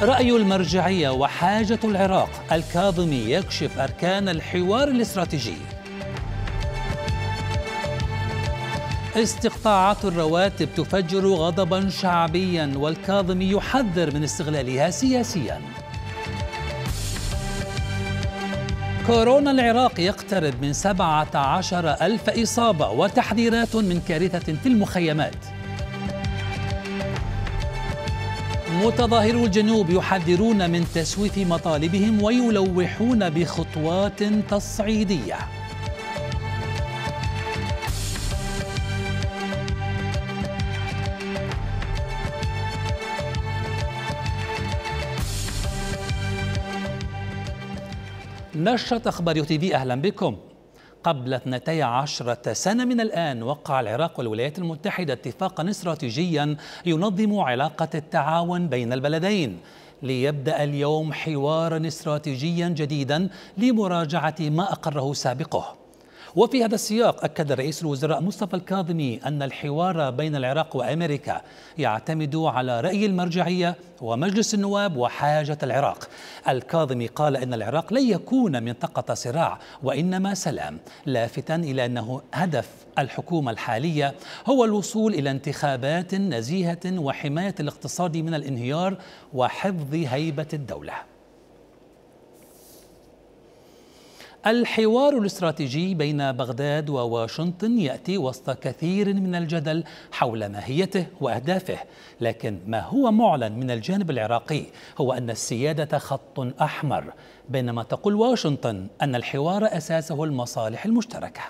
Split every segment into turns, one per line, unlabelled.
رأي المرجعية وحاجة العراق، الكاظمي يكشف أركان الحوار الاستراتيجي. استقطاعات الرواتب تفجر غضبا شعبيا، والكاظمي يحذر من استغلالها سياسيا. كورونا العراق يقترب من 17,000 إصابة، وتحذيرات من كارثة في المخيمات. متظاهرو الجنوب يحذرون من تسويف مطالبهم ويلوحون بخطوات تصعيدية. نشرة أخبار يو تي في، أهلا بكم. قبل 12 سنة من الآن وقع العراق والولايات المتحدة اتفاقا استراتيجيا ينظم علاقة التعاون بين البلدين، ليبدأ اليوم حوارا استراتيجيا جديدا لمراجعة ما أقره سابقه. وفي هذا السياق أكد رئيس الوزراء مصطفى الكاظمي أن الحوار بين العراق وأمريكا يعتمد على رأي المرجعية ومجلس النواب وحاجة العراق. الكاظمي قال إن العراق لن يكون منطقة صراع وإنما سلام، لافتاً إلى أنه هدف الحكومة الحالية هو الوصول إلى انتخابات نزيهة وحماية الاقتصاد من الانهيار وحفظ هيبة الدولة. الحوار الاستراتيجي بين بغداد وواشنطن يأتي وسط كثير من الجدل حول ماهيته وأهدافه، لكن ما هو معلن من الجانب العراقي هو أن السيادة خط أحمر، بينما تقول واشنطن أن الحوار أساسه المصالح المشتركة.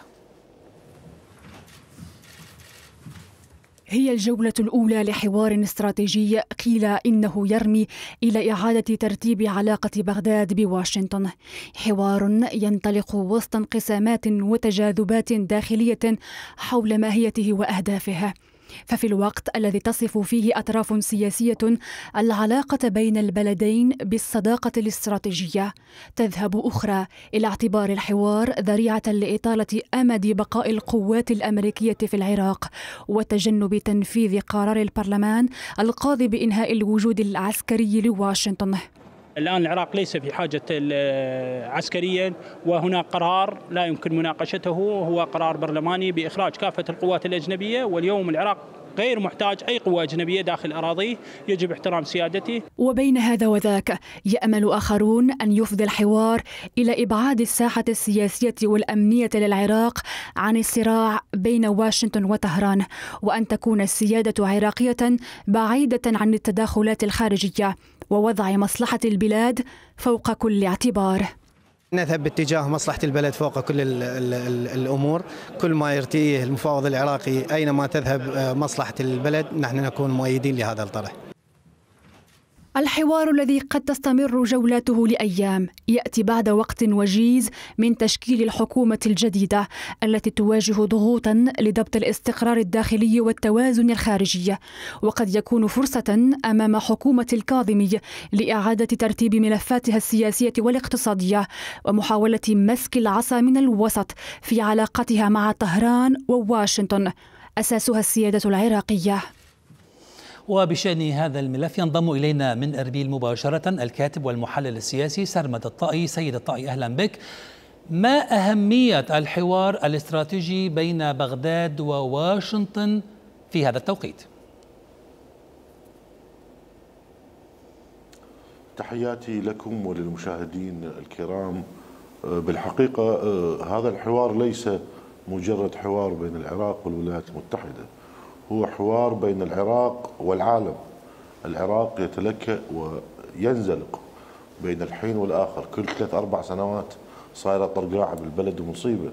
هي الجولة الأولى لحوار استراتيجي قيل إنه يرمي إلى إعادة ترتيب علاقة بغداد بواشنطن، حوار ينطلق وسط انقسامات وتجاذبات داخلية حول ماهيته وأهدافه. ففي الوقت الذي تصف فيه أطراف سياسية العلاقة بين البلدين بالصداقة الاستراتيجية، تذهب أخرى إلى اعتبار الحوار ذريعة لإطالة أمد بقاء القوات الأمريكية في العراق وتجنب تنفيذ قرار البرلمان القاضي بإنهاء الوجود العسكري لواشنطن.
الآن العراق ليس في حاجة عسكريا، وهناك قرار لا يمكن مناقشته، هو قرار برلماني بإخراج كافة القوات الأجنبية، واليوم العراق غير محتاج أي قوة أجنبية داخل أراضيه، يجب احترام سيادته.
وبين هذا وذاك يأمل آخرون أن يفضي الحوار إلى إبعاد الساحة السياسية والأمنية للعراق عن الصراع بين واشنطن وطهران، وأن تكون السيادة عراقية بعيدة عن التداخلات الخارجية ووضع مصلحة البلاد فوق كل اعتبار.
نذهب باتجاه مصلحة البلد فوق كل الأمور، كل ما يرتئيه المفاوض العراقي أينما تذهب مصلحة البلد نحن نكون مؤيدين لهذا الطرح.
الحوار الذي قد تستمر جولاته لأيام يأتي بعد وقت وجيز من تشكيل الحكومة الجديدة التي تواجه ضغوطا لضبط الاستقرار الداخلي والتوازن الخارجي، وقد يكون فرصة أمام حكومة الكاظمي لإعادة ترتيب ملفاتها السياسية والاقتصادية ومحاولة مسك العصا من الوسط في علاقتها مع طهران وواشنطن أساسها السيادة العراقية.
وبشأن هذا الملف ينضم إلينا من أربيل مباشرة الكاتب والمحلل السياسي سرمد الطائي. سيد الطائي، أهلا بك. ما أهمية الحوار الاستراتيجي بين بغداد وواشنطن في هذا التوقيت؟
تحياتي لكم وللمشاهدين الكرام. بالحقيقة هذا الحوار ليس مجرد حوار بين العراق والولايات المتحدة، هو حوار بين العراق والعالم. العراق يتلكأ وينزلق بين الحين والآخر، كل 3-4 سنوات صايرة طرقاعة بالبلد ومصيبة،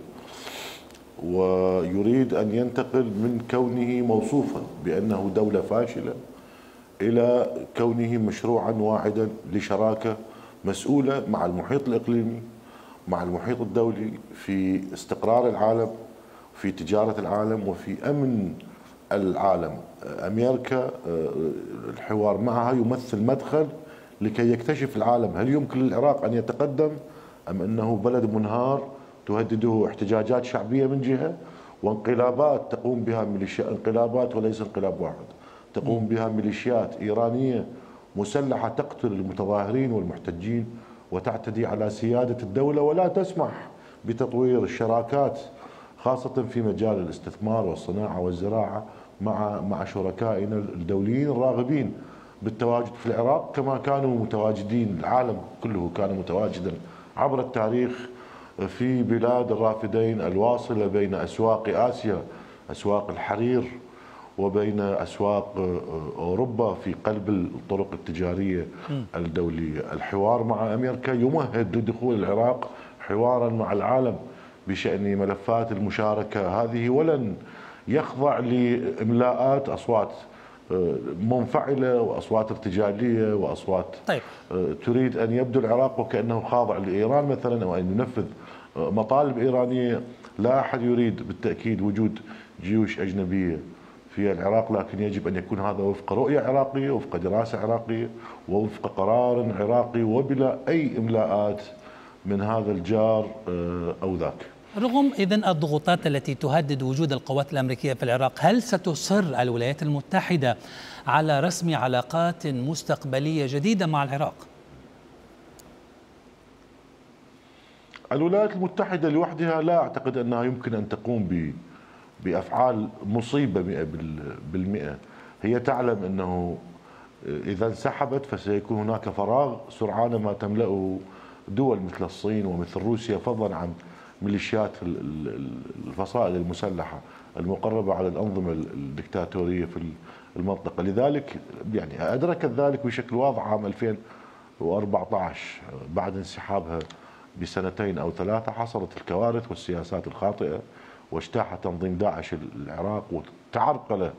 ويريد أن ينتقل من كونه موصوفا بأنه دولة فاشلة إلى كونه مشروعا واحدا لشراكة مسؤولة مع المحيط الإقليمي، مع المحيط الدولي، في استقرار العالم، في تجارة العالم، وفي أمن العالم. أمريكا الحوار معها يمثل مدخل لكي يكتشف العالم هل يمكن للعراق أن يتقدم أم أنه بلد منهار تهدده احتجاجات شعبية من جهة، وانقلابات تقوم بها انقلابات وليس انقلاب واحد، تقوم بها ميليشيات إيرانية مسلحة تقتل المتظاهرين والمحتجين وتعتدي على سيادة الدولة، ولا تسمح بتطوير الشراكات خاصة في مجال الاستثمار والصناعة والزراعة مع شركائنا الدوليين الراغبين بالتواجد في العراق كما كانوا متواجدين. العالم كله كان متواجدا عبر التاريخ في بلاد الرافدين الواصلة بين أسواق آسيا، أسواق الحرير، وبين أسواق أوروبا في قلب الطرق التجارية الدولية. الحوار مع أمريكا يمهد لدخول العراق حوارا مع العالم بشأن ملفات المشاركة هذه، ولن يخضع لإملاءات أصوات منفعلة وأصوات ارتجالية وأصوات
طيب.
تريد أن يبدو العراق وكأنه خاضع لإيران مثلا، أو أن ينفذ مطالب إيرانية. لا أحد يريد بالتأكيد وجود جيوش أجنبية في العراق، لكن يجب أن يكون هذا وفق رؤية عراقية، وفق دراسة عراقية، ووفق قرار عراقي، وبلا أي إملاءات من هذا الجار أو ذاك.
رغم إذن الضغوطات التي تهدد وجود القوات الأمريكية في العراق، هل ستصر الولايات المتحدة على رسم علاقات مستقبلية جديدة مع العراق؟
الولايات المتحدة لوحدها لا أعتقد أنها يمكن أن تقوم بأفعال مصيبة 100%. هي تعلم أنه إذا انسحبت فسيكون هناك فراغ سرعان ما تملأه دول مثل الصين ومثل روسيا، فضلا عن ميليشيات الفصائل المسلحة المقربة على الأنظمة الدكتاتورية في المنطقة. لذلك يعني أدركت ذلك بشكل واضح عام 2014 بعد انسحابها بسنتين أو ثلاثة. حصلت الكوارث والسياسات الخاطئة، واجتاح تنظيم داعش العراق، وتعرقل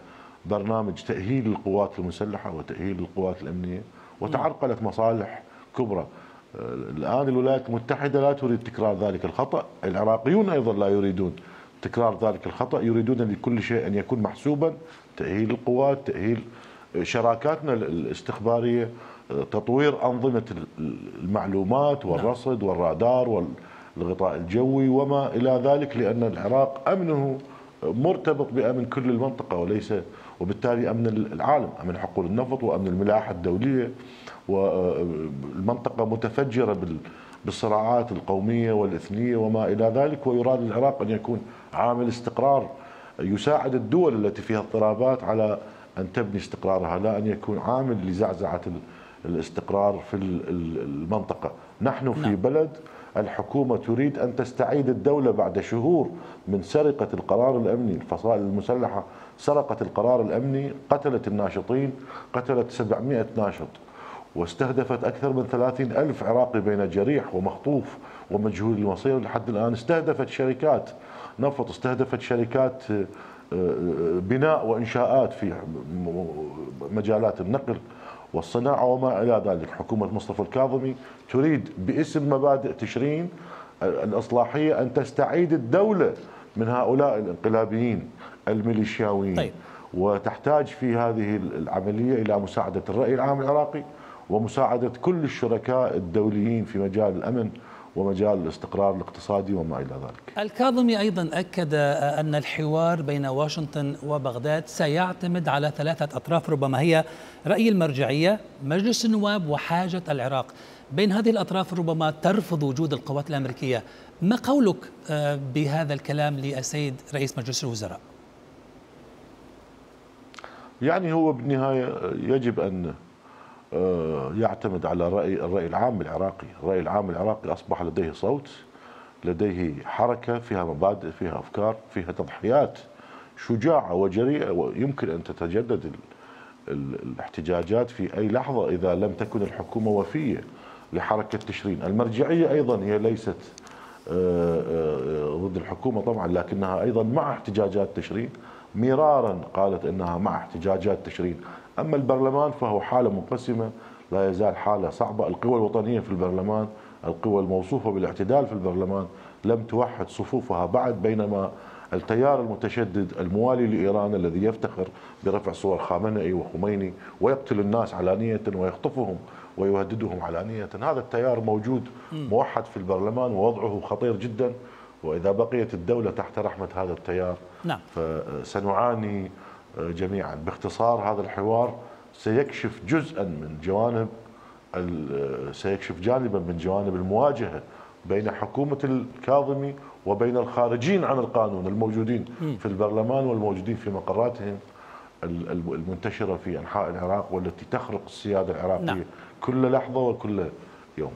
برنامج تأهيل القوات المسلحة وتأهيل القوات الأمنية، وتعرقلت مصالح كبرى. الآن الولايات المتحدة لا تريد تكرار ذلك الخطأ، العراقيون أيضا لا يريدون تكرار ذلك الخطأ، يريدون لكل شيء أن يكون محسوبا، تأهيل القوات، تأهيل شراكاتنا الاستخبارية، تطوير أنظمة المعلومات والرصد والرادار والغطاء الجوي وما إلى ذلك، لأن العراق أمنه مرتبط بأمن كل المنطقة وليس، وبالتالي أمن العالم، أمن حقول النفط وأمن الملاحة الدولية، والمنطقة متفجرة بالصراعات القومية والإثنية وما إلى ذلك. ويراد العراق أن يكون عامل استقرار يساعد الدول التي فيها اضطرابات على أن تبني استقرارها، لا أن يكون عامل لزعزعة الاستقرار في المنطقة. نحن في بلد الحكومة تريد أن تستعيد الدولة بعد شهور من سرقة القرار الأمني. الفصائل المسلحة سرقت القرار الأمني، قتلت الناشطين، قتلت 700 ناشط، واستهدفت أكثر من 30,000 عراقي بين جريح ومخطوف ومجهول المصير لحد الآن. استهدفت شركات نفط، استهدفت شركات بناء وإنشاءات في مجالات النقل والصناعة وما إلى ذلك. حكومة مصطفى الكاظمي تريد باسم مبادئ تشرين الإصلاحية أن تستعيد الدولة من هؤلاء الانقلابيين الميليشياويين.
طيب.
وتحتاج في هذه العملية إلى مساعدة الرأي العام العراقي ومساعدة كل الشركاء الدوليين في مجال الأمن ومجال الاستقرار الاقتصادي وما إلى ذلك.
الكاظمي أيضا أكد أن الحوار بين واشنطن وبغداد سيعتمد على 3 أطراف، ربما هي رأي المرجعية، مجلس النواب، وحاجة العراق. بين هذه الأطراف ربما ترفض وجود القوات الأمريكية. ما قولك بهذا الكلام للسيد رئيس مجلس الوزراء؟
يعني هو بالنهاية يجب أن يعتمد على الرأي العام العراقي. الرأي العام العراقي أصبح لديه صوت، لديه حركة فيها مبادئ، فيها أفكار، فيها تضحيات شجاعة وجريئة، ويمكن أن تتجدد الاحتجاجات في أي لحظة إذا لم تكن الحكومة وفية لحركة تشرين. المرجعية أيضا هي ليست ضد الحكومة طبعا، لكنها أيضا مع احتجاجات تشرين، مرارا قالت أنها مع احتجاجات تشرين. أما البرلمان فهو حالة منقسمة، لا يزال حالة صعبة. القوى الوطنية في البرلمان، القوى الموصوفة بالاعتدال في البرلمان لم توحد صفوفها بعد، بينما التيار المتشدد الموالي لإيران الذي يفتخر برفع صور خامنئي وخميني ويقتل الناس علانية ويخطفهم ويهددهم علانية، هذا التيار موجود موحد في البرلمان ووضعه خطير جدا. وإذا بقيت الدولة تحت رحمة هذا التيار فسنعاني جميعا. باختصار هذا الحوار سيكشف جزءا من جوانب سيكشف جانبا من جوانب المواجهة بين حكومة الكاظمي وبين الخارجين عن القانون الموجودين في البرلمان والموجودين في مقراتهم المنتشرة في أنحاء العراق والتي تخرق السيادة العراقية
نعم.
كل لحظة وكل يوم.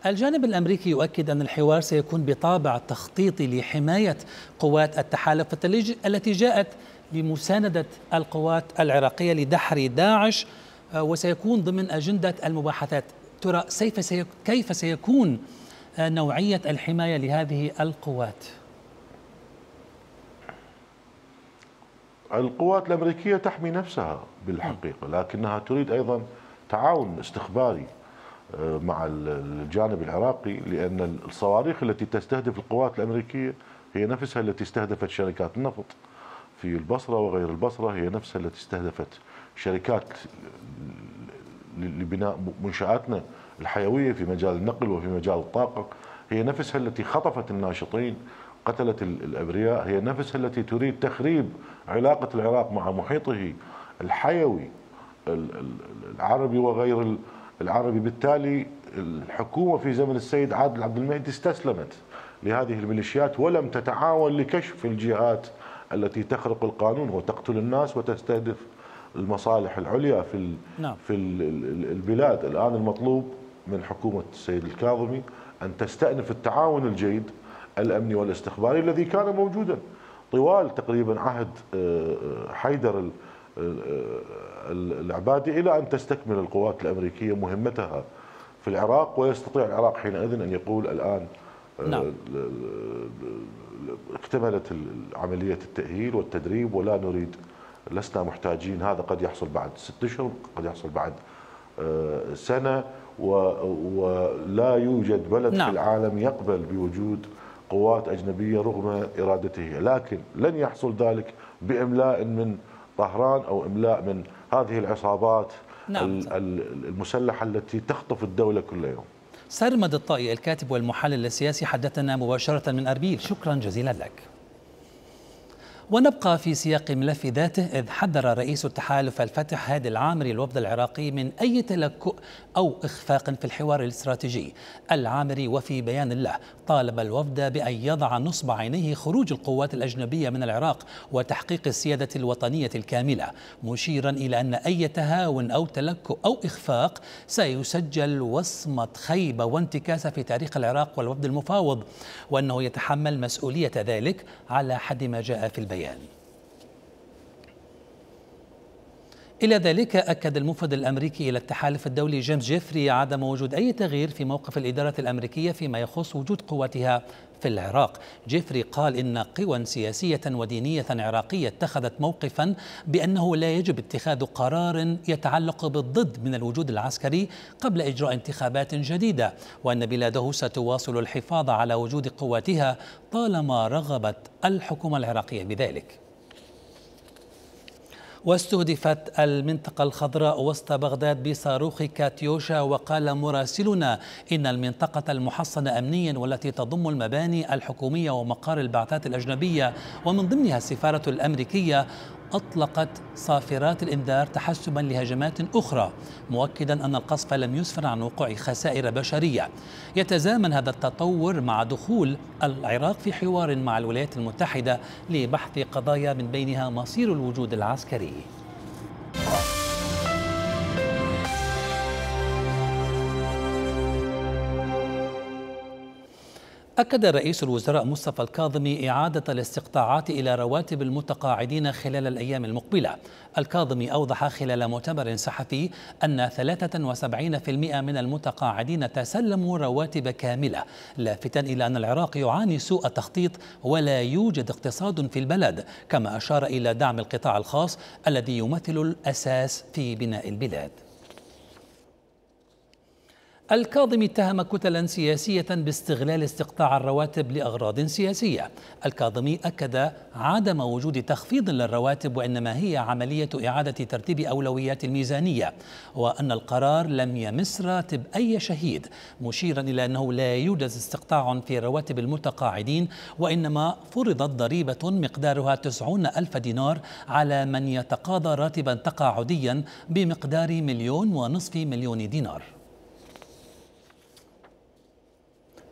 الجانب الأمريكي يؤكد أن الحوار سيكون بطابع تخطيطي لحماية قوات التحالف التي جاءت بمساندة القوات العراقية لدحر داعش، وسيكون ضمن أجندة المباحثات. ترى كيف سيكون نوعية الحماية لهذه القوات؟
القوات الأمريكية تحمي نفسها بالحقيقة، لكنها تريد أيضا تعاون استخباري مع الجانب العراقي، لأن الصواريخ التي تستهدف القوات الأمريكية هي نفسها التي استهدفت شركات النفط في البصرة وغير البصرة، هي نفسها التي استهدفت شركات لبناء منشآتنا الحيوية في مجال النقل وفي مجال الطاقة، هي نفسها التي خطفت الناشطين، قتلت الأبرياء، هي نفسها التي تريد تخريب علاقة العراق مع محيطه الحيوي العربي وغير العربي. بالتالي الحكومة في زمن السيد عادل عبد المهدي استسلمت لهذه الميليشيات ولم تتعاون لكشف الجهات التي تخرق القانون وتقتل الناس وتستهدف المصالح العليا في البلاد. الآن المطلوب من حكومة السيد الكاظمي أن تستأنف التعاون الجيد الأمني والاستخباري الذي كان موجودا طوال تقريبا عهد حيدر العبادي إلى أن تستكمل القوات الأمريكية مهمتها في العراق، ويستطيع العراق حينئذ أن يقول الآن
نعم.
اكتملت عملية التأهيل والتدريب ولا نريد، لسنا محتاجين. هذا قد يحصل بعد 6 أشهر، قد يحصل بعد سنة، ولا يوجد بلد
نعم.
في العالم يقبل بوجود قوات أجنبية رغم إرادته، لكن لن يحصل ذلك بإملاء من طهران أو إملاء من هذه العصابات
نعم.
المسلحة التي تخطف الدولة كل يوم.
سرمد الطائي الكاتب والمحلل السياسي حدثنا مباشرة من أربيل، شكرا جزيلا لك. ونبقى في سياق ملف ذاته، إذ حذر رئيس التحالف الفتح هادي العامري الوفد العراقي من أي تلكؤ أو إخفاق في الحوار الاستراتيجي. العامري وفي بيان له طالب الوفد بأن يضع نصب عينيه خروج القوات الأجنبية من العراق وتحقيق السيادة الوطنية الكاملة، مشيرا إلى أن أي تهاون أو تلكؤ أو إخفاق سيسجل وصمة خيبة وانتكاسة في تاريخ العراق والوفد المفاوض، وأنه يتحمل مسؤولية ذلك على حد ما جاء في البيان. إلى ذلك أكد الموفد الأمريكي إلى التحالف الدولي جيمس جيفري عدم وجود أي تغيير في موقف الإدارة الأمريكية فيما يخص وجود قواتها في العراق. جيفري قال إن قوى سياسية ودينية عراقية اتخذت موقفا بأنه لا يجب اتخاذ قرار يتعلق بالضد من الوجود العسكري قبل إجراء انتخابات جديدة، وأن بلاده ستواصل الحفاظ على وجود قواتها طالما رغبت الحكومة العراقية بذلك. واستهدفت المنطقة الخضراء وسط بغداد بصاروخ كاتيوشا، وقال مراسلنا إن المنطقة المحصنة أمنيا والتي تضم المباني الحكومية ومقار البعثات الأجنبية ومن ضمنها السفارة الأمريكية أطلقت صافرات الإنذار تحسبا لهجمات أخرى، مؤكدا أن القصف لم يسفر عن وقوع خسائر بشرية. يتزامن هذا التطور مع دخول العراق في حوار مع الولايات المتحدة لبحث قضايا من بينها مصير الوجود العسكري. أكد رئيس الوزراء مصطفى الكاظمي إعادة الاستقطاعات إلى رواتب المتقاعدين خلال الأيام المقبلة. الكاظمي أوضح خلال مؤتمر صحفي أن 73% من المتقاعدين تسلموا رواتب كاملة، لافتا إلى أن العراق يعاني سوء تخطيط ولا يوجد اقتصاد في البلد، كما أشار إلى دعم القطاع الخاص الذي يمثل الأساس في بناء البلاد. الكاظمي اتهم كتلا سياسية باستغلال استقطاع الرواتب لأغراض سياسية. الكاظمي أكد عدم وجود تخفيض للرواتب، وإنما هي عملية إعادة ترتيب أولويات الميزانية، وأن القرار لم يمس راتب أي شهيد، مشيرا إلى أنه لا يوجد استقطاع في رواتب المتقاعدين، وإنما فرضت ضريبة مقدارها 90,000 دينار على من يتقاضى راتبا تقاعديا بمقدار 1.5 مليون دينار.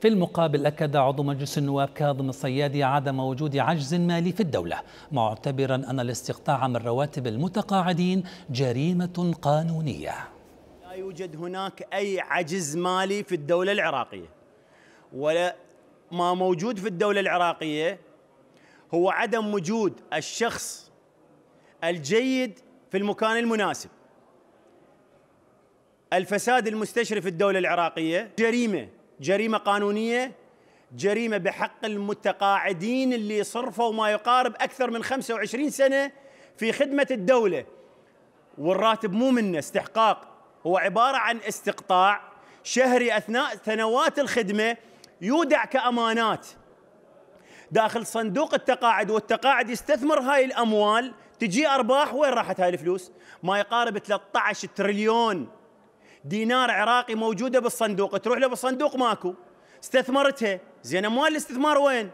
في المقابل أكد عضو مجلس النواب كاظم الصيادي عدم وجود عجز مالي في الدولة، معتبرا أن الاستقطاع من رواتب المتقاعدين جريمة قانونية.
لا يوجد هناك أي عجز مالي في الدولة العراقية، ولا ما موجود في الدولة العراقية هو عدم وجود الشخص الجيد في المكان المناسب. الفساد المستشري في الدولة العراقية جريمة قانونية، جريمة بحق المتقاعدين اللي صرفوا ما يقارب أكثر من 25 سنة في خدمة الدولة، والراتب مو منه استحقاق، هو عبارة عن استقطاع شهري أثناء سنوات الخدمة، يودع كأمانات داخل صندوق التقاعد، والتقاعد يستثمر هاي الأموال، تجي أرباح. وين راحت هاي الفلوس؟ ما يقارب 13 تريليون دينار عراقي موجودة بالصندوق، تروح له بالصندوق ماكو، استثمرتها، زين أموال الاستثمار وين؟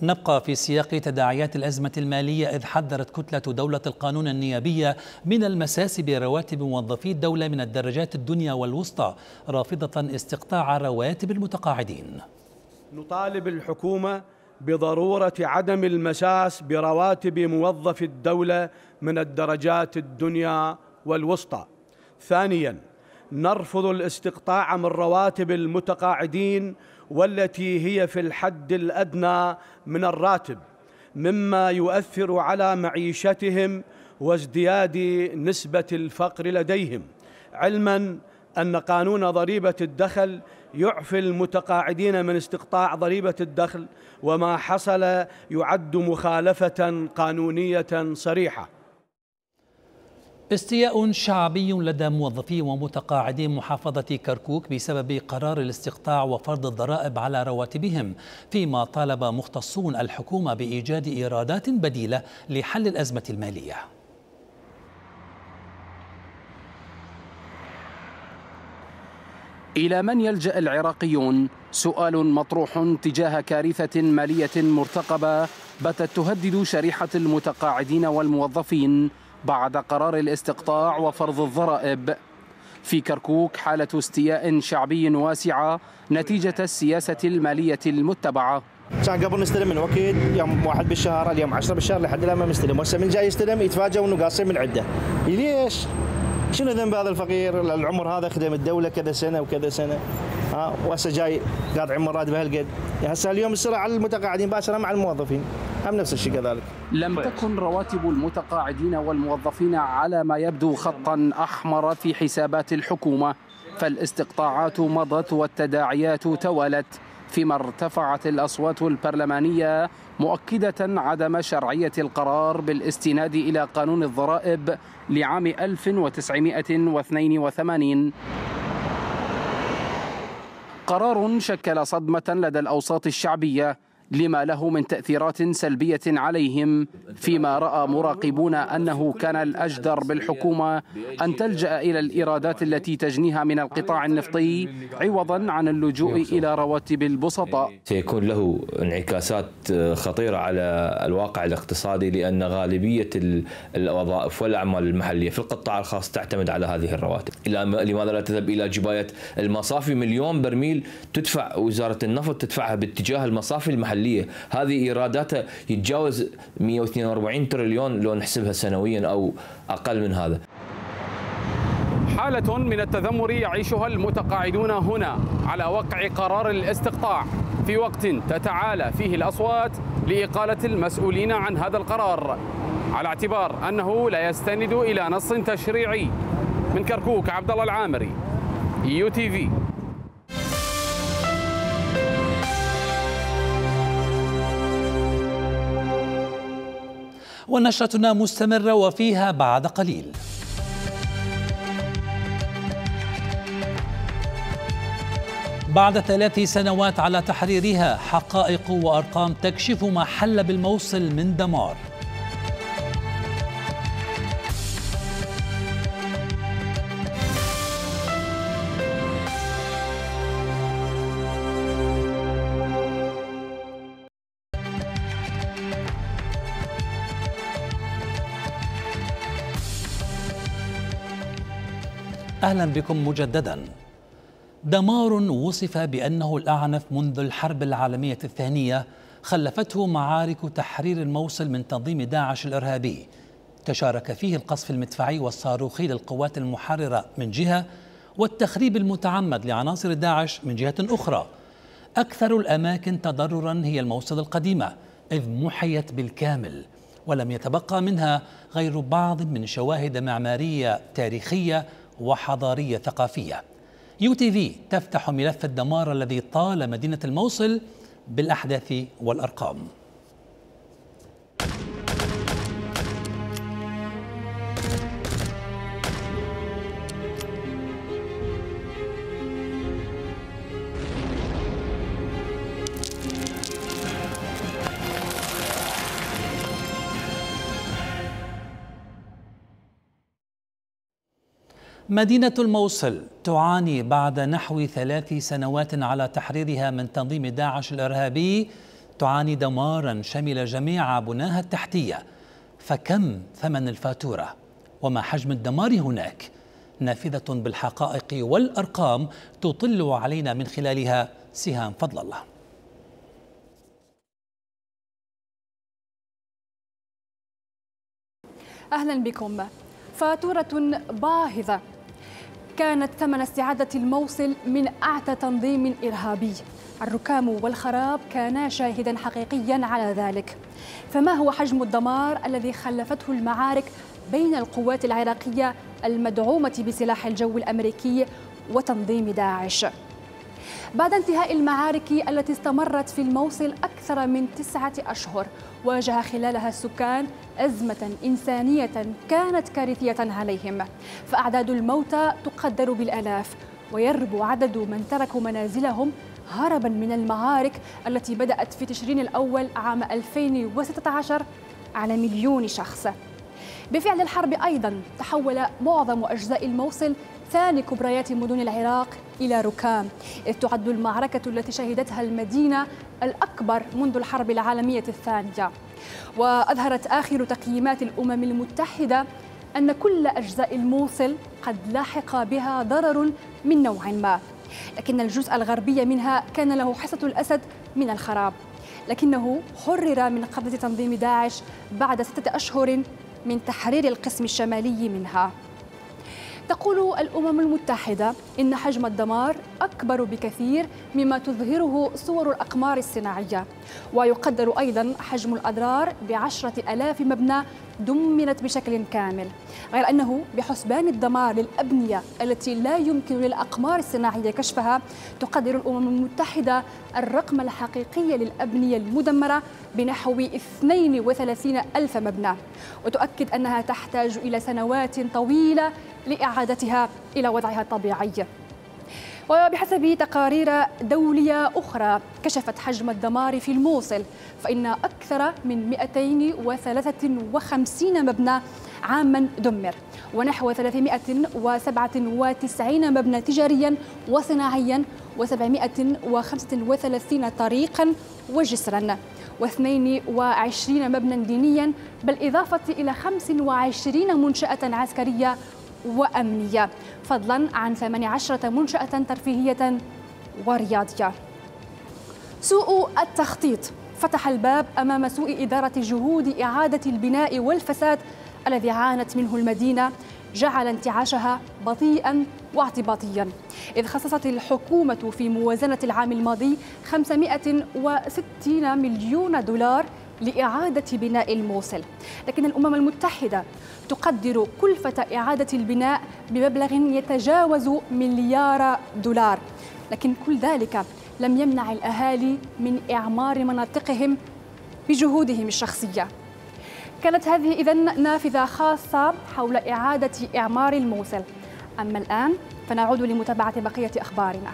نبقى في سياق تداعيات الأزمة المالية، إذ حذرت كتلة دولة القانون النيابية من المساس برواتب موظفي الدولة من الدرجات الدنيا والوسطى، رافضة استقطاع رواتب المتقاعدين.
نطالب الحكومة بضرورة عدم المساس برواتب موظفي الدولة من الدرجات الدنيا والوسطى. ثانياً، نرفض الاستقطاع من رواتب المتقاعدين والتي هي في الحد الأدنى من الراتب، مما يؤثر على معيشتهم وازدياد نسبة الفقر لديهم، علماً أن قانون ضريبة الدخل يعفي المتقاعدين من استقطاع ضريبة الدخل، وما حصل يعد مخالفة قانونية صريحة.
استياء شعبي لدى موظفي ومتقاعدي محافظة كركوك بسبب قرار الاستقطاع وفرض الضرائب على رواتبهم، فيما طالب مختصون الحكومة بإيجاد إيرادات بديلة لحل الأزمة المالية.
إلى من يلجأ العراقيون؟ سؤال مطروح تجاه كارثة مالية مرتقبة باتت تهدد شريحة المتقاعدين والموظفين بعد قرار الاستقطاع وفرض الضرائب. في كركوك حالة استياء شعبي واسعة نتيجة السياسة المالية المتبعة.
كان قبل نستلم من وقت يوم 1 بالشهر، اليوم 10 بالشهر، لحد الآن ما مستلم، وهسه من جاي يستلم يتفاجئوا انه قاصين من عده. ليش؟ شنو ذنب هذا الفقير؟ العمر هذا خدم الدولة كذا سنة وكذا سنة، وهسه جاي قاطع مرات بهالقد. هسه اليوم السرعة على المتقاعدين باشرة مع الموظفين هم نفس الشيء كذلك.
لم تكن رواتب المتقاعدين والموظفين على ما يبدو خطا أحمر في حسابات الحكومة، فالاستقطاعات مضت والتداعيات توالت، فيما ارتفعت الأصوات البرلمانية مؤكدة عدم شرعية القرار بالاستناد إلى قانون الضرائب لعام 1982. قرار شكل صدمة لدى الأوساط الشعبية لما له من تأثيرات سلبية عليهم، فيما رأى مراقبون أنه كان الأجدر بالحكومة أن تلجأ إلى الإيرادات التي تجنيها من القطاع النفطي عوضا عن اللجوء إلى رواتب البسطاء.
سيكون له انعكاسات خطيرة على الواقع الاقتصادي، لأن غالبية الوظائف والأعمال المحلية في القطاع الخاص تعتمد على هذه الرواتب. لماذا لا تذهب إلى جباية المصافي؟ 1,000,000 برميل تدفع وزارة النفط تدفعها باتجاه المصافي المحلية، هذه إيراداتها يتجاوز 142 تريليون لو نحسبها سنويا أو أقل من هذا.
حالة من التذمر يعيشها المتقاعدون هنا على وقع قرار الاستقطاع، في وقت تتعالى فيه الأصوات لإقالة المسؤولين عن هذا القرار، على اعتبار أنه لا يستند إلى نص تشريعي. من كركوك عبد الله العامري، UTV.
ونشرتنا مستمرة وفيها بعد قليل. بعد 3 سنوات على تحريرها، حقائق وأرقام تكشف ما حل بالموصل من دمار. أهلا بكم مجددا. دمار وصف بأنه الأعنف منذ الحرب العالمية الثانية خلفته معارك تحرير الموصل من تنظيم داعش الإرهابي، تشارك فيه القصف المدفعي والصاروخي للقوات المحررة من جهة، والتخريب المتعمد لعناصر داعش من جهة أخرى. أكثر الأماكن تضررا هي الموصل القديمة، إذ محيت بالكامل ولم يتبقى منها غير بعض من شواهد معمارية تاريخية وحضارية ثقافية. UTV تفتح ملف الدمار الذي طال مدينة الموصل بالأحداث والأرقام. مدينة الموصل تعاني بعد نحو 3 سنوات على تحريرها من تنظيم داعش الإرهابي، تعاني دمارا شمل جميع بناها التحتية. فكم ثمن الفاتورة وما حجم الدمار هناك؟ نافذة بالحقائق والأرقام تطل علينا من خلالها سهام فضل الله.
أهلا بكم. فاتورة باهظة كانت ثمن استعادة الموصل من أعتى تنظيم إرهابي. الركام والخراب كانا شاهدا حقيقيا على ذلك. فما هو حجم الدمار الذي خلفته المعارك بين القوات العراقية المدعومة بسلاح الجو الأمريكي وتنظيم داعش؟ بعد انتهاء المعارك التي استمرت في الموصل أكثر من 9 أشهر، واجه خلالها السكان أزمة إنسانية كانت كارثية عليهم، فأعداد الموتى تقدر بالآلاف، ويربو عدد من تركوا منازلهم هربا من المعارك التي بدأت في تشرين الأول عام 2016 على 1,000,000 شخص. بفعل الحرب أيضا تحول معظم أجزاء الموصل ثاني كبريات مدن العراق إلى ركام، إذ تعد المعركة التي شهدتها المدينة الأكبر منذ الحرب العالمية الثانية. وأظهرت آخر تقييمات الأمم المتحدة أن كل أجزاء الموصل قد لاحق بها ضرر من نوع ما، لكن الجزء الغربي منها كان له حصة الأسد من الخراب، لكنه حرر من قبضة تنظيم داعش بعد 6 أشهر من تحرير القسم الشمالي منها. تقول الأمم المتحدة إن حجم الدمار أكبر بكثير مما تظهره صور الأقمار الصناعية، ويقدر أيضا حجم الأضرار ب10,000 مبنى دمرت بشكل كامل، غير أنه بحسبان الدمار للأبنية التي لا يمكن للأقمار الصناعية كشفها، تقدر الأمم المتحدة الرقم الحقيقي للأبنية المدمرة بنحو 32,000 مبنى، وتؤكد أنها تحتاج إلى سنوات طويلة لإعادتها إلى وضعها الطبيعي. وبحسب تقارير دولية أخرى كشفت حجم الدمار في الموصل، فإن أكثر من 253 مبنى عاما دمر، ونحو 397 مبنى تجاريا وصناعيا، و735 طريقا وجسرا، و22 مبنى دينيا، بالإضافة إلى 25 منشأة عسكرية وأمنية، فضلا عن 18 منشأة ترفيهية ورياضية. سوء التخطيط فتح الباب أمام سوء إدارة جهود إعادة البناء والفساد الذي عانت منه المدينة، جعل انتعاشها بطيئا واعتباطيا، إذ خصصت الحكومة في موازنة العام الماضي 560 مليون دولار لإعادة بناء الموصل، لكن الأمم المتحدة تقدر كلفة إعادة البناء بمبلغ يتجاوز $1,000,000,000، لكن كل ذلك لم يمنع الأهالي من إعمار مناطقهم بجهودهم الشخصية. كانت هذه إذن نافذة خاصة حول إعادة إعمار الموصل. أما الآن فنعود لمتابعة بقية أخبارنا.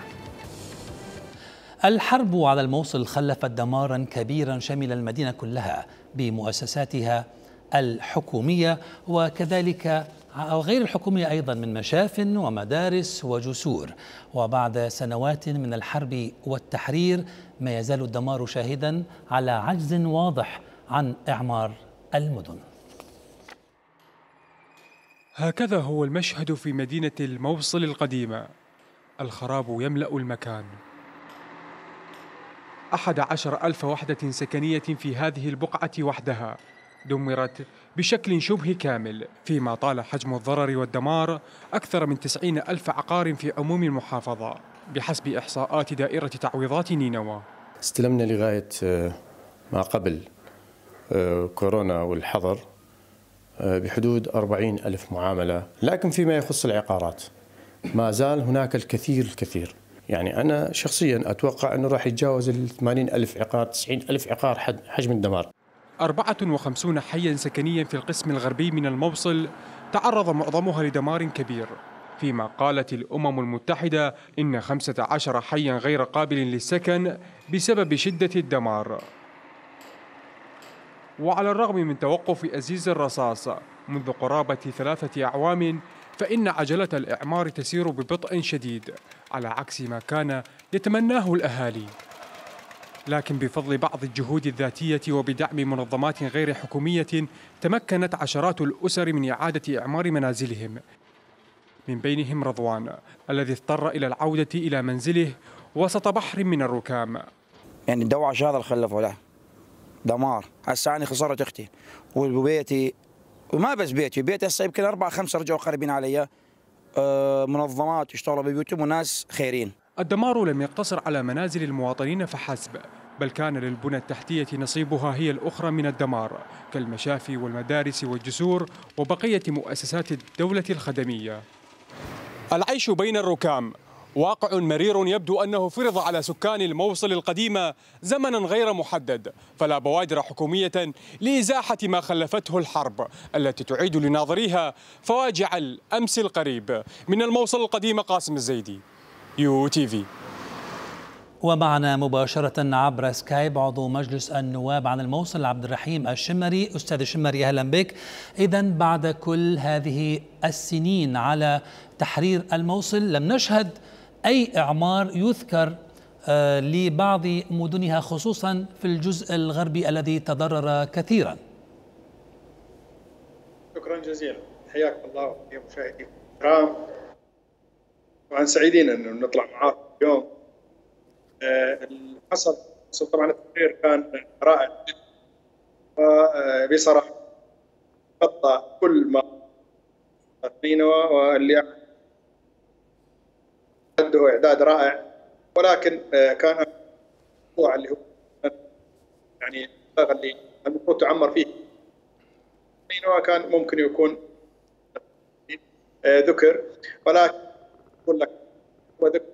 الحرب على الموصل خلفت دمارا كبيرا شمل المدينة كلها بمؤسساتها الحكومية وكذلك أو غير الحكومية أيضا من مشاف ومدارس وجسور. وبعد سنوات من الحرب والتحرير ما يزال الدمار شاهدا على عجز واضح عن إعمار المدن.
هكذا هو المشهد في مدينة الموصل القديمة. الخراب يملأ المكان. 11,000 وحدة سكنية في هذه البقعة وحدها دمرت بشكل شبه كامل، فيما طال حجم الضرر والدمار أكثر من 90,000 عقار في عموم المحافظة بحسب إحصاءات دائرة تعويضات نينوى.
استلمنا لغاية ما قبل كورونا والحظر بحدود 40,000 معاملة، لكن فيما يخص العقارات ما زال هناك الكثير. يعني أنا شخصيا أتوقع أنه راح يتجاوز 80,000 عقار 90,000 عقار حجم الدمار.
54 حياً سكنياً في القسم الغربي من الموصل تعرض معظمها لدمار كبير، فيما قالت الأمم المتحدة إن 15 حياً غير قابل للسكن بسبب شدة الدمار. وعلى الرغم من توقف أزيز الرصاص منذ قرابة 3 أعوام، فإن عجلة الإعمار تسير ببطء شديد على عكس ما كان يتمناه الأهالي. لكن بفضل بعض الجهود الذاتية وبدعم منظمات غير حكومية تمكنت عشرات الأسر من إعادة إعمار منازلهم، من بينهم رضوان الذي اضطر إلى العودة إلى منزله وسط بحر من الركام.
يعني الدواعش هذا اللي خلفه له دمار. هسه أنا خسرت أختي وبيتي، وما بس بيتي هسه يمكن 4-5 رجعوا قريبين علي، منظمات يشتغلوا ببيوتهم وناس خيرين.
الدمار لم يقتصر على منازل المواطنين فحسب، بل كان للبنى التحتية نصيبها هي الأخرى من الدمار كالمشافي والمدارس والجسور وبقية مؤسسات الدولة الخدمية. العيش بين الركام واقع مرير يبدو أنه فرض على سكان الموصل القديمة زمنا غير محدد، فلا بوادر حكومية لإزاحة ما خلفته الحرب التي تعيد لناظريها فواجع الأمس القريب. من الموصل القديم قاسم الزيدي، UTV.
ومعنا مباشرة عبر سكايب عضو مجلس النواب عن الموصل عبد الرحيم الشمري. أستاذ الشمري أهلا بك. إذن بعد كل هذه السنين على تحرير الموصل لم نشهد أي إعمار يذكر لبعض مدنها خصوصا في الجزء الغربي الذي تضرر كثيرا.
شكرا جزيلا، حياكم الله ويا مشاهدينا الكرام. طبعا سعيدين انه نطلع معاكم اليوم. اللي حصل طبعا التقرير كان رائع جدا وبصراحه غطى كل ما نينوى واللي عنده اعداد رائع، ولكن كان الموضوع اللي هو يعني اللي المفروض تعمر فيه نينوى كان ممكن يكون ذكر، ولكن اقول لك هو ذكر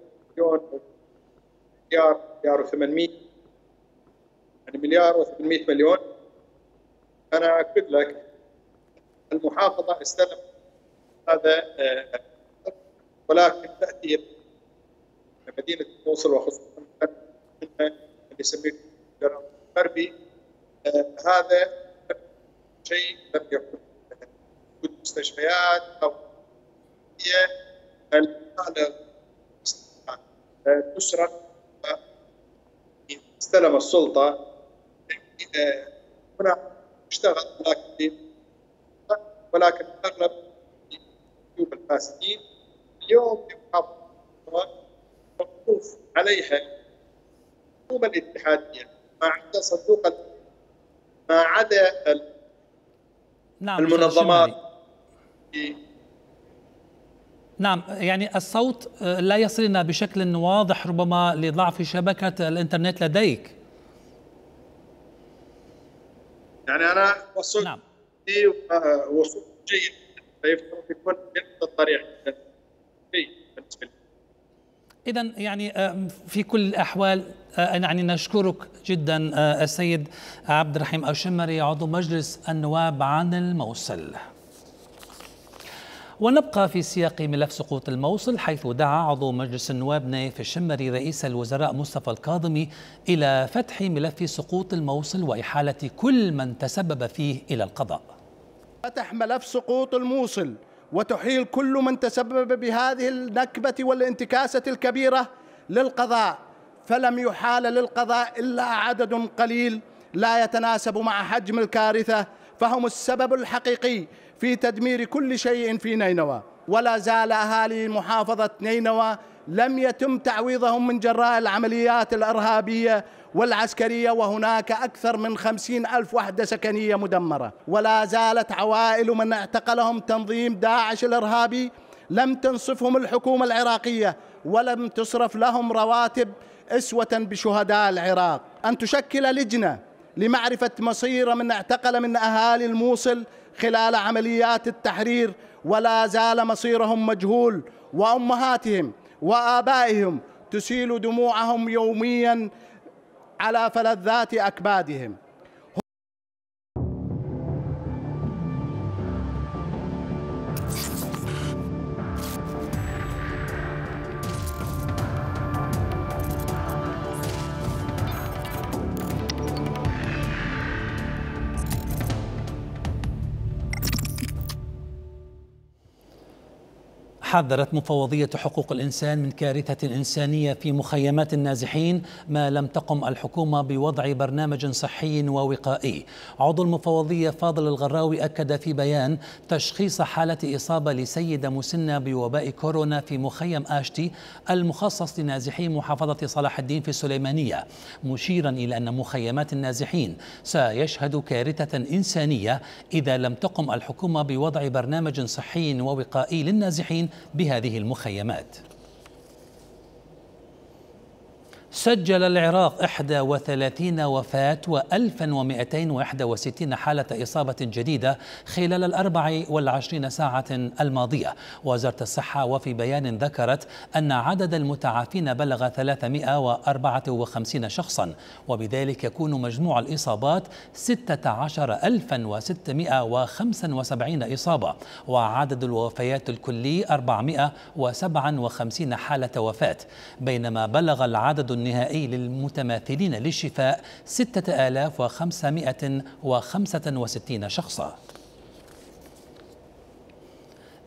مليار و800 يعني مليار و800 مليون. انا اكد لك المحافظه استلمت هذا، ولكن تاثير مدينه الموصل وخصوصا اللي يسميه الغربي هذا شيء لم يكن وجود مستشفيات او هي الحاله تشرف. استلم السلطه هنا اشتغل ولكن اغلب الجيوب الفاسدين اليوم موقوف عليها الحكومه الاتحاديه ما عدا صندوق ما عدا المنظمات.
نعم، يعني الصوت لا يصلنا بشكل واضح ربما لضعف شبكة الإنترنت لديك.
يعني أنا وصلت نعم. وصول جيد فيفترض يكون بنفس الطريقة.
إذن يعني في كل الأحوال يعني نشكرك جدا السيد عبد الرحيم الشمري عضو مجلس النواب عن الموصل. ونبقى في سياق ملف سقوط الموصل، حيث دعا عضو مجلس النواب نايف الشمري رئيس الوزراء مصطفى الكاظمي إلى فتح ملف سقوط الموصل وإحالة كل من تسبب فيه إلى القضاء.
فتح ملف سقوط الموصل وتحيل كل من تسبب بهذه النكبة والانتكاسة الكبيرة للقضاء، فلم يحال للقضاء إلا عدد قليل لا يتناسب مع حجم الكارثة، فهم السبب الحقيقي في تدمير كل شيء في نينوى. ولا زال أهالي محافظة نينوى لم يتم تعويضهم من جراء العمليات الإرهابية والعسكرية، وهناك أكثر من 50,000 وحدة سكنية مدمرة. ولا زالت عوائل من اعتقلهم تنظيم داعش الإرهابي لم تنصفهم الحكومة العراقية، ولم تصرف لهم رواتب أسوة بشهداء العراق. أن تشكل لجنة لمعرفة مصير من اعتقل من أهالي الموصل خلال عمليات التحرير، ولا زال مصيرهم مجهول، وأمهاتهم وآبائهم تسيل دموعهم يوميا على فلذات أكبادهم.
حذرت مفوضية حقوق الإنسان من كارثة إنسانية في مخيمات النازحين ما لم تقم الحكومة بوضع برنامج صحي ووقائي. عضو المفوضية فاضل الغراوي أكد في بيان تشخيص حالة إصابة لسيدة مسنة بوباء كورونا في مخيم آشتي المخصص لنازحي محافظة صلاح الدين في السليمانية، مشيرا إلى أن مخيمات النازحين سيشهد كارثة إنسانية إذا لم تقم الحكومة بوضع برنامج صحي ووقائي للنازحين بهذه المخيمات. سجل العراق 31 وفاة و1261 حالة إصابة جديدة خلال 24 ساعة الماضية. وزارة الصحة وفي بيان ذكرت أن عدد المتعافين بلغ 354 شخصا، وبذلك يكون مجموع الإصابات 16,675 إصابة، وعدد الوفيات الكلي 457 حالة وفاة، بينما بلغ العدد النهائي للمتماثلين للشفاء 6565 شخصا.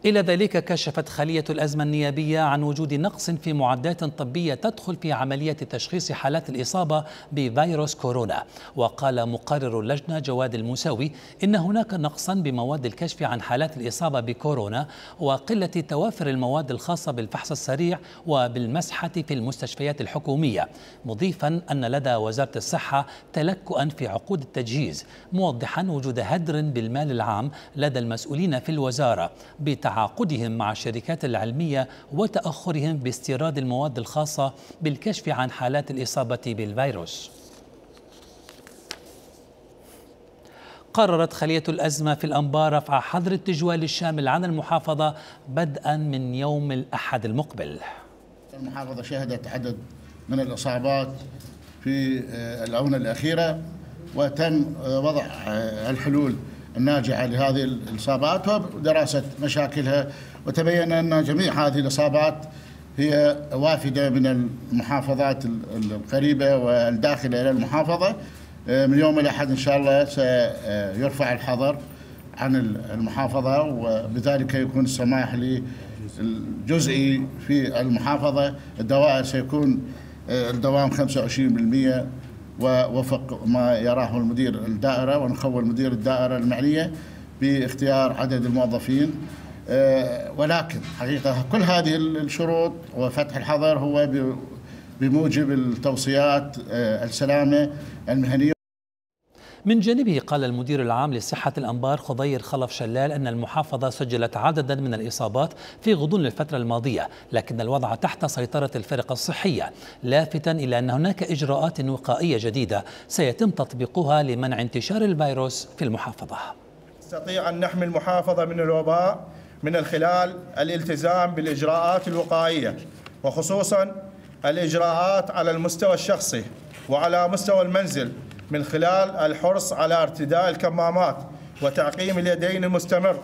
إلى ذلك كشفت خلية الأزمة النيابية عن وجود نقص في معدات طبية تدخل في عملية تشخيص حالات الإصابة بفيروس كورونا. وقال مقرر اللجنة جواد الموسوي إن هناك نقصا بمواد الكشف عن حالات الإصابة بكورونا وقلة توافر المواد الخاصة بالفحص السريع وبالمسحة في المستشفيات الحكومية، مضيفا أن لدى وزارة الصحة تلكؤا في عقود التجهيز، موضحا وجود هدر بالمال العام لدى المسؤولين في الوزارة تعاقدهم مع الشركات العلمية وتأخرهم باستيراد المواد الخاصة بالكشف عن حالات الإصابة بالفيروس. قررت خلية الأزمة في الأنبار رفع حظر التجوال الشامل عن المحافظة بدءا من يوم الأحد المقبل.
المحافظة شهدت عدد من الإصابات في الآونة الأخيرة، وتم وضع الحلول الناجعة لهذه الإصابات ودراسة مشاكلها، وتبين أن جميع هذه الإصابات هي وافدة من المحافظات القريبة والداخلة إلى المحافظة. من يوم الأحد إن شاء الله سيرفع الحظر عن المحافظة، وبذلك يكون السماح للجزئي في المحافظة. الدوائر سيكون الدوام 25% ووفق ما يراه المدير الدائرة، ونخول مدير الدائرة المعنية باختيار عدد الموظفين. ولكن حقيقة كل هذه الشروط وفتح الحظر هو بموجب التوصيات السلامة المهنية.
من جانبه قال المدير العام لصحة الأنبار خضير خلف شلال أن المحافظة سجلت عددا من الإصابات في غضون الفترة الماضية، لكن الوضع تحت سيطرة الفرق الصحية، لافتا إلى أن هناك إجراءات وقائية جديدة سيتم تطبيقها لمنع انتشار الفيروس في المحافظة.
نستطيع أن نحمي المحافظة من الوباء من خلال الالتزام بالإجراءات الوقائية، وخصوصا الإجراءات على المستوى الشخصي وعلى مستوى المنزل، من خلال الحرص على ارتداء الكمامات وتعقيم اليدين المستمر،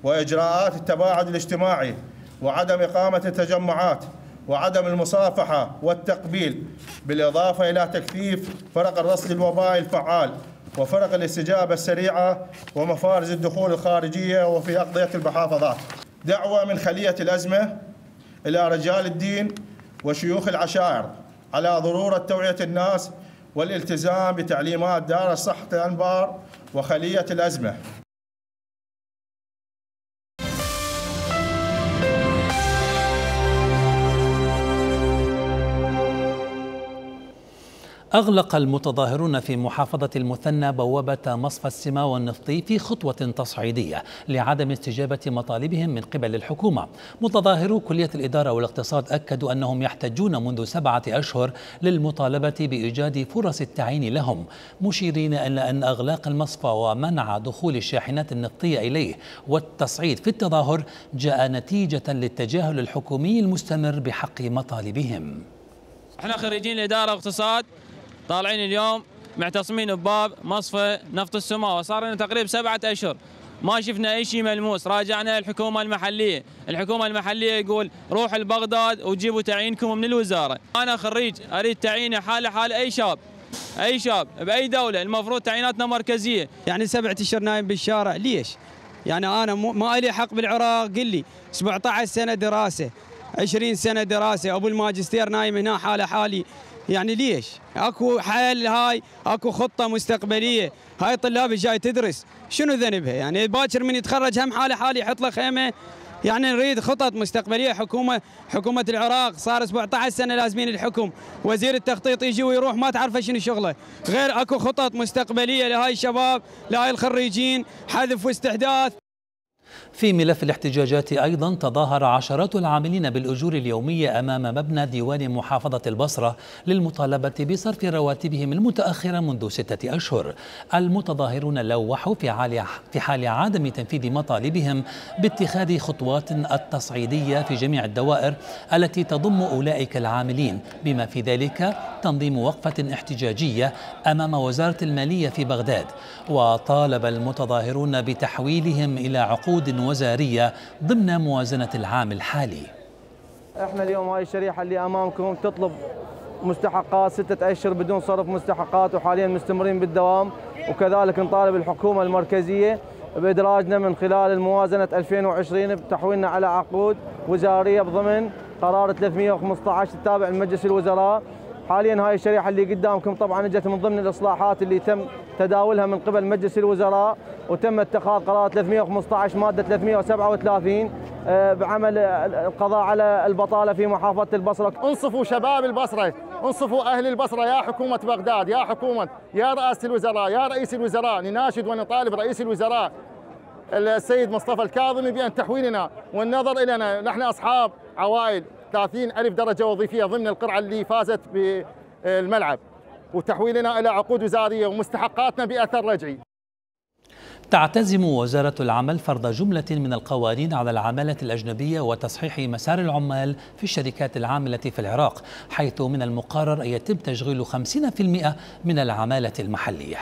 وإجراءات التباعد الاجتماعي وعدم إقامة التجمعات وعدم المصافحة والتقبيل، بالإضافة إلى تكثيف فرق الرصد الوبائي الفعال وفرق الاستجابة السريعة ومفارز الدخول الخارجية وفي أقضية المحافظات. دعوة من خلية الأزمة إلى رجال الدين وشيوخ العشائر على ضرورة توعية الناس والالتزام بتعليمات دار الصحة الأنبار وخلية الأزمة.
أغلق المتظاهرون في محافظة المثنى بوابة مصفى السماوة النفطي في خطوة تصعيدية لعدم استجابة مطالبهم من قبل الحكومة. متظاهرو كلية الإدارة والاقتصاد أكدوا أنهم يحتاجون منذ 7 أشهر للمطالبة بإيجاد فرص التعيين لهم، مشيرين إلى أن إغلاق المصفى ومنع دخول الشاحنات النفطية إليه والتصعيد في التظاهر جاء نتيجة للتجاهل الحكومي المستمر بحق مطالبهم.
احنا خريجين الإدارة والاقتصاد طالعين اليوم معتصمين بباب مصفى نفط السماوة، صار لنا تقريبا 7 أشهر ما شفنا أي شيء ملموس. راجعنا الحكومة المحلية، الحكومة المحلية يقول روحوا لبغداد وجيبوا تعيينكم من الوزارة. أنا خريج أريد تعييني حال أي شاب بأي دولة، المفروض تعييناتنا مركزية.
يعني 7 أشهر نايم بالشارع ليش؟ يعني أنا ما لي حق بالعراق، قل لي 17 سنة دراسة 20 سنة دراسة، أبو الماجستير نايم هنا حالي، يعني ليش؟ اكو حل، هاي اكو خطة مستقبلية، هاي طلاب جاي تدرس شنو ذنبها؟ يعني باكر من يتخرج هم حالي يحط له خيمة. يعني نريد خطط مستقبلية. حكومة العراق صار 17 سنة لازمين الحكم، وزير التخطيط يجي ويروح ما تعرف شنو شغله، غير اكو خطط مستقبلية لهاي الشباب لهاي الخريجين، حذف واستحداث.
في ملف الاحتجاجات أيضا تظاهر عشرات العاملين بالأجور اليومية أمام مبنى ديوان محافظة البصرة للمطالبة بصرف رواتبهم المتأخرة منذ 6 أشهر. المتظاهرون لوحوا في حال عدم تنفيذ مطالبهم باتخاذ خطوات التصعيدية في جميع الدوائر التي تضم أولئك العاملين، بما في ذلك تنظيم وقفة احتجاجية أمام وزارة المالية في بغداد. وطالب المتظاهرون بتحويلهم إلى عقود وزارية ضمن موازنة العام الحالي.
احنا اليوم هاي الشريحة اللي امامكم تطلب مستحقات 6 أشهر بدون صرف مستحقات، وحاليا مستمرين بالدوام، وكذلك نطالب الحكومة المركزية بإدراجنا من خلال الموازنة 2020 بتحويلنا على عقود وزارية بضمن قرار 315 التابع لمجلس الوزراء. حاليا هاي الشريحة اللي قدامكم طبعا اجت من ضمن الإصلاحات اللي تم تداولها من قبل مجلس الوزراء، وتم اتخاذ قرار 315 مادة 337 بعمل القضاء على البطالة في محافظة البصرة.
انصفوا شباب البصرة، انصفوا أهل البصرة، يا حكومة بغداد، يا حكومة، يا رئاسة الوزراء، يا رئيس الوزراء، نناشد ونطالب رئيس الوزراء السيد مصطفى الكاظمي بأن تحويلنا والنظر إلينا. نحن أصحاب عوائل 30,000 درجة وظيفية ضمن القرعة اللي فازت بالملعب، وتحويلنا إلى عقود وزارية ومستحقاتنا بأثر رجعي.
تعتزم وزارة العمل فرض جملة من القوانين على العمالة الأجنبية وتصحيح مسار العمال في الشركات العاملة في العراق، حيث من المقرر أن يتم تشغيل 50% من العمالة المحلية.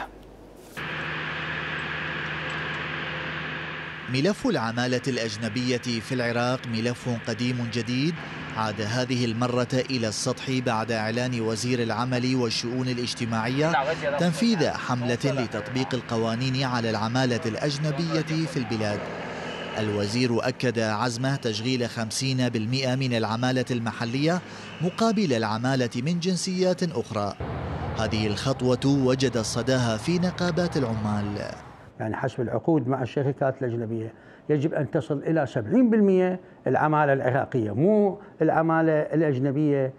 ملف العمالة الأجنبية في العراق ملف قديم جديد، عاد هذه المرة إلى السطح بعد إعلان وزير العمل والشؤون الاجتماعية تنفيذ حملة لتطبيق القوانين على العمالة الأجنبية في البلاد. الوزير أكد عزمه تشغيل 50% من العمالة المحلية مقابل العمالة من جنسيات أخرى. هذه الخطوة وجد صداها في نقابات العمال.
يعني حسب العقود مع الشركات الأجنبية يجب أن تصل إلى 70% العمالة العراقية، مو العمالة الأجنبية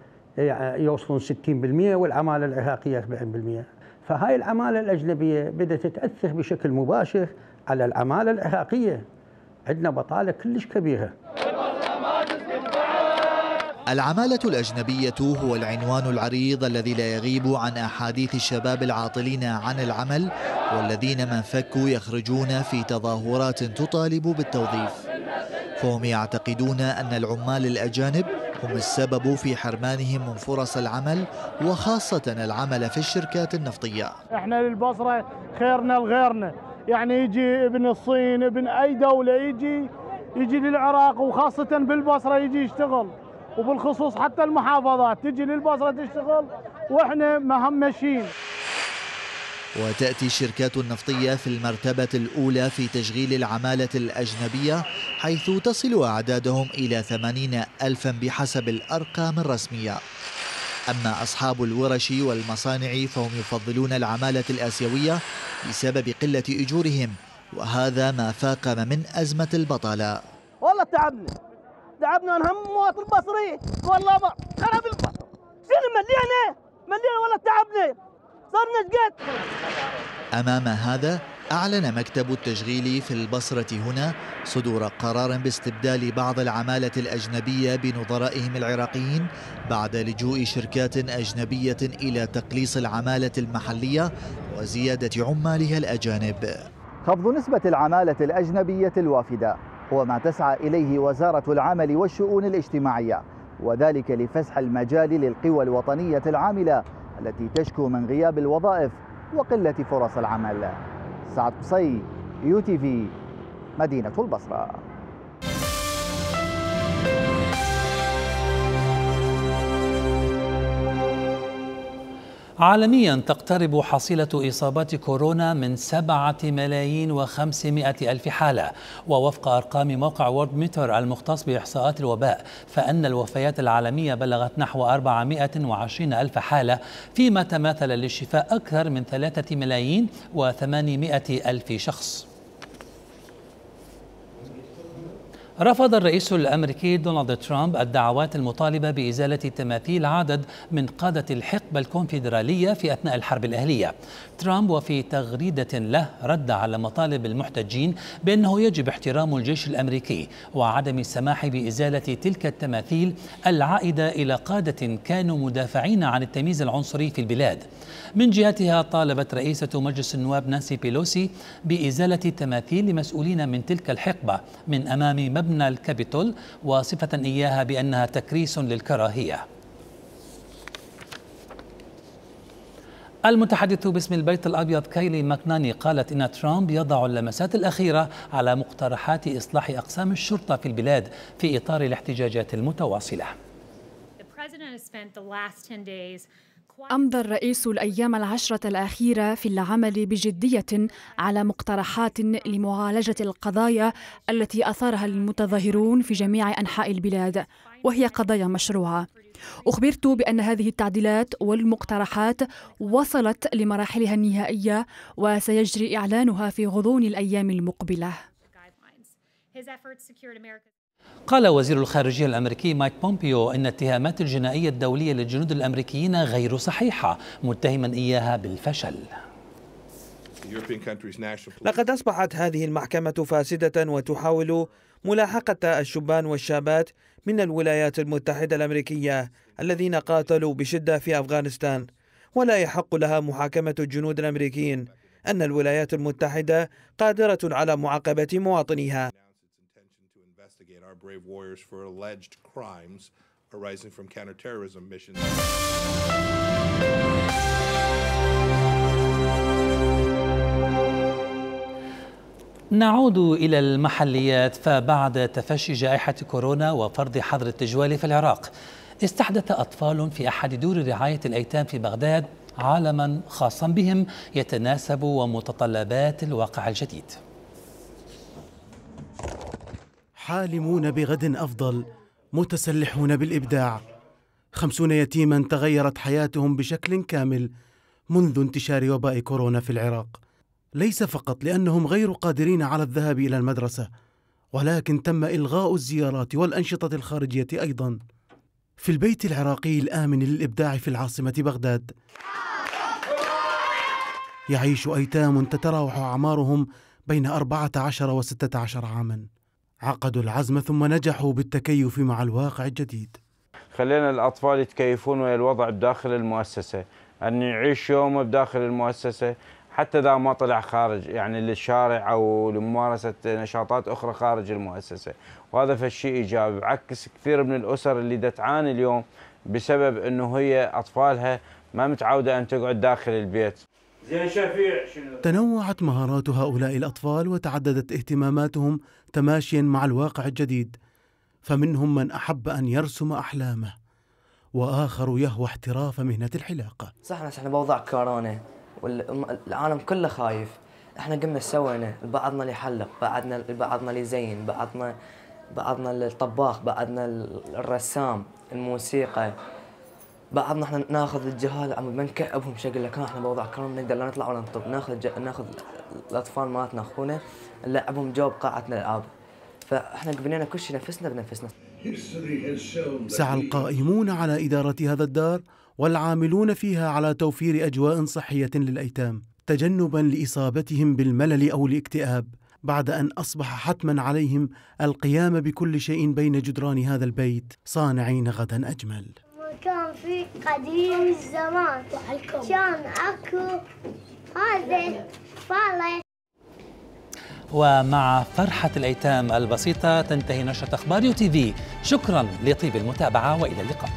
يوصلون 60% والعمالة العراقية 40%. فهاي العمالة الأجنبية بدأت تتأثر بشكل مباشر على العمالة العراقية. عندنا بطالة كلش كبيرة.
العمالة الأجنبية هو العنوان العريض الذي لا يغيب عن أحاديث الشباب العاطلين عن العمل والذين من فكوا يخرجون في تظاهرات تطالب بالتوظيف، فهم يعتقدون أن العمال الأجانب هم السبب في حرمانهم من فرص العمل وخاصة العمل في الشركات النفطية.
احنا للبصرة خيرنا لغيرنا،
يعني يجي ابن الصين ابن أي دولة يجي للعراق وخاصة بالبصرة يجي يشتغل، وبالخصوص حتى المحافظات تجي للبصرة تشتغل وإحنا مهمشين.
وتأتي الشركات النفطية في المرتبة الأولى في تشغيل العمالة الأجنبية، حيث تصل أعدادهم إلى 80,000 بحسب الأرقام الرسمية. أما أصحاب الورش والمصانع فهم يفضلون العمالة الآسيوية بسبب قلة أجورهم، وهذا ما فاقم من أزمة البطالة.
والله تعبنا نهم مواطن بصري، والله ما خرب البصر شنو ملينا والله تعبنا صرنا شقد.
أمام هذا أعلن مكتب التشغيل في البصرة هنا صدور قرار باستبدال بعض العمالة الأجنبية بنظرائهم العراقيين بعد لجوء شركات أجنبية إلى تقليص العمالة المحلية وزيادة عمالها الأجانب.
خفض نسبة العمالة الأجنبية الوافدة هو ما تسعى إليه وزارة العمل والشؤون الاجتماعية، وذلك لفسح المجال للقوى الوطنية العاملة التي تشكو من غياب الوظائف وقلة فرص العمل. سعد قصي، UTV، مدينة البصرة.
عالميا تقترب حصيلة إصابات كورونا من 7,500,000 حالة، ووفق أرقام موقع وورد ميتر المختص بإحصاءات الوباء فإن الوفيات العالمية بلغت نحو 420,000 حالة، فيما تماثل للشفاء أكثر من 3,800,000 شخص. رفض الرئيس الأمريكي دونالد ترامب الدعوات المطالبة بإزالة تماثيل عدد من قادة الحقبة الكونفدرالية في أثناء الحرب الأهلية. ترامب وفي تغريدة له رد على مطالب المحتجين بأنه يجب احترام الجيش الأمريكي وعدم السماح بإزالة تلك التماثيل العائدة إلى قادة كانوا مدافعين عن التمييز العنصري في البلاد. من جهتها طالبت رئيسة مجلس النواب نانسي بيلوسي بإزالة تماثيل لمسؤولين من تلك الحقبة من أمام مبنى الكابيتول، وصفة إياها بأنها تكريس للكراهية. المتحدث باسم البيت الأبيض كايلي ماكناني قالت إن ترامب يضع اللمسات الأخيرة على مقترحات إصلاح أقسام الشرطة في البلاد في إطار الاحتجاجات المتواصلة.
أمضى الرئيس الأيام العشرة الأخيرة في العمل بجدية على مقترحات لمعالجة القضايا التي أثارها المتظاهرون في جميع أنحاء البلاد، وهي قضايا مشروعة. أخبرت بأن هذه التعديلات والمقترحات وصلت لمراحلها النهائية وسيجري إعلانها في غضون الأيام المقبلة.
قال وزير الخارجية الأمريكي مايك بومبيو إن الاتهامات الجنائية الدولية للجنود الأمريكيين غير صحيحة، متهما إياها بالفشل.
لقد أصبحت هذه المحكمة فاسدة وتحاول ملاحقة الشبان والشابات من الولايات المتحدة الأمريكية الذين قاتلوا بشدة في أفغانستان، ولا يحق لها محاكمة الجنود الأمريكيين. أن الولايات المتحدة قادرة على معاقبة مواطنيها.
brave warriors for alleged crimes arising from counterterrorism missions.
نعود إلى المحليات. فبعد تفشي جائحة كورونا وفرض حظر التجوال في العراق، استحدث أطفال في أحد دور رعاية الأيتام في بغداد عالما خاصا بهم يتناسب ومتطلبات الواقع الجديد.
حالمون بغد أفضل، متسلحون بالإبداع. 50 يتيما تغيرت حياتهم بشكل كامل منذ انتشار وباء كورونا في العراق، ليس فقط لأنهم غير قادرين على الذهاب إلى المدرسة، ولكن تم إلغاء الزيارات والأنشطة الخارجية أيضا. في البيت العراقي الآمن للإبداع في العاصمة بغداد يعيش أيتام تتراوح أعمارهم بين 14 و16 عاما. عقدوا العزم ثم نجحوا بالتكيف مع الواقع الجديد.
خلينا الأطفال يتكيفون ويا الوضع بداخل المؤسسة، أن يعيش يومه بداخل المؤسسة حتى إذا ما طلع خارج، يعني للشارع أو لممارسة نشاطات أخرى خارج المؤسسة، وهذا فالشيء إيجابي، بعكس كثير من الأسر اللي تعاني اليوم بسبب أنه هي أطفالها ما متعودة أن تقعد داخل البيت. زين شفيع شنو؟
تنوعت مهارات هؤلاء الأطفال وتعددت اهتماماتهم تماشيا مع الواقع الجديد، فمنهم من أحب أن يرسم أحلامه، وآخر يهوى احتراف مهنة الحلاقة.
صح احنا بوضع كورونا والعالم كله خايف، احنا قمنا سوينا، بعضنا اللي يحلق، بعضنا اللي يزين، بعضنا الطباخ، بعضنا الرسام، الموسيقى، بعضنا احنا ناخذ الجهال عم بنكعبهم شكل لكن احنا بوضع كورونا نقدر لا نطلع ولا نطب، ناخذ الاطفال مالتنا اخونا نلعبهم جو بقاعة الالعاب، فاحنا بنينا كل شيء نفسنا بنفسنا.
سعى القائمون على إدارة هذا الدار والعاملون فيها على توفير أجواء صحية للأيتام تجنبا لإصابتهم بالملل أو الاكتئاب، بعد أن أصبح حتما عليهم القيام بكل شيء بين جدران هذا البيت صانعين غدا أجمل.
كان في قديم الزمان كان أكو هذا فالة.
ومع فرحة الأيتام البسيطة تنتهي نشرة أخبار يو تي في. شكرا لطيب المتابعة وإلى اللقاء.